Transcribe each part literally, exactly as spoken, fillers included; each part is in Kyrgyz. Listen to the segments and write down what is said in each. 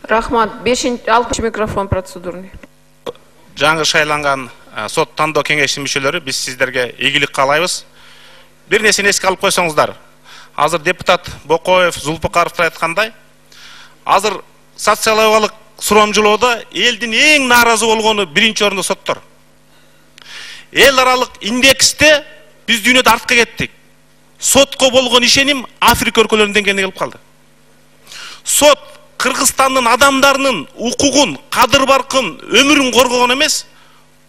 Рахмат. бешинчи алтынчы микрофон процедурный. Жаңы шайланган сот тандоо кеңешинин мүчөлөрү, биз сиздерге ийгилик каалайбыз. Бир нерсени эске алып койсоңуздар. Азыр депутат Бокоев, Зулпукаровдор айткандай, азыр социологиялык сурамжылоодо элдин эң нааразы болгону биринчи орунда соттор. Эл аралык индексте биз дүйнөдө артка кеттик. Сотко болгон ишеним Африка өлкөлөрүнүн деңгээлине келип калды. Сот Кыргызстандын адамдарынын укугун, кадыр баркын, өмүрүн коргогон эмес,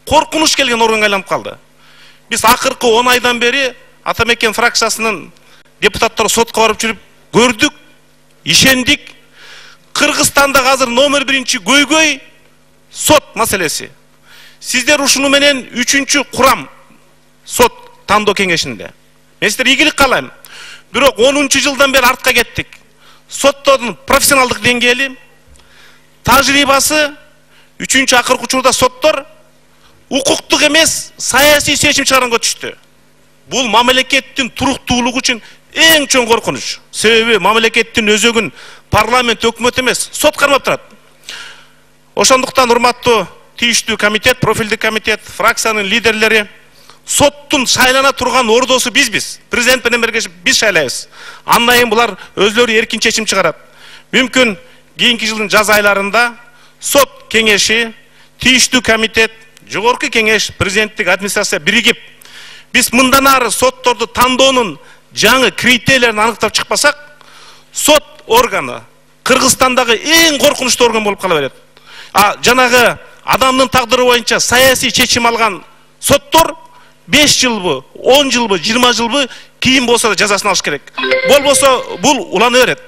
коркунуч келген органга айланып калды. Биз акыркы он айдан бери Атамекен фракциясынын депутаттары сотко барып жүрүп көрдүк, ишендик. Кыргызстанда азыр номер биринчи көйгөй сот маселеси. Сиздер ушуну менен үчүнчү курам сот тандоо кеңешинде. Мен сиздерге ийгилик каалайм. Бирок онунчу жылдан бери артка кеттик. Соттордун профессионалдык деңгээли, тажрыйбасы, үчүнчү акыркы учурда соттор укуктук эмес, саясий чечим чыгарганга түштү. Бул мамлекеттин туруктуулугу үчүн эң чоң коркунуч. Себеби мамлекеттин өзөгүн парламент, өкмөт эмес, сот кармап турат. Ошондуктан урматтуу тийиштүү комитет, профилдик комитет, фракциянын лидерлери, соттун шайлана турган ордосу бизбиз. Президент менен бирге биз шайлайбыз. Андан кийин булар өзлөрү эркин чечим чыгарат. Мүмкүн кийинки жылдын жаз айларында сот кеңеши, тийиштүү комитет, жогорку кеңеш, президенттик администрация биригип, биз мындан ары сотторду тандоонун жаңы критерийлерин аныктап чыкпасак, сот органы Кыргызстандагы эң коркунучтуу орган болуп кала берет. А жанагы адамдын тагдыры боюнча саясий чечим алган соттор беш жылбы, он жылбы, жыйырма жылбы кийин болсо да жазасын алыш керек. Болбосо бул улана берет.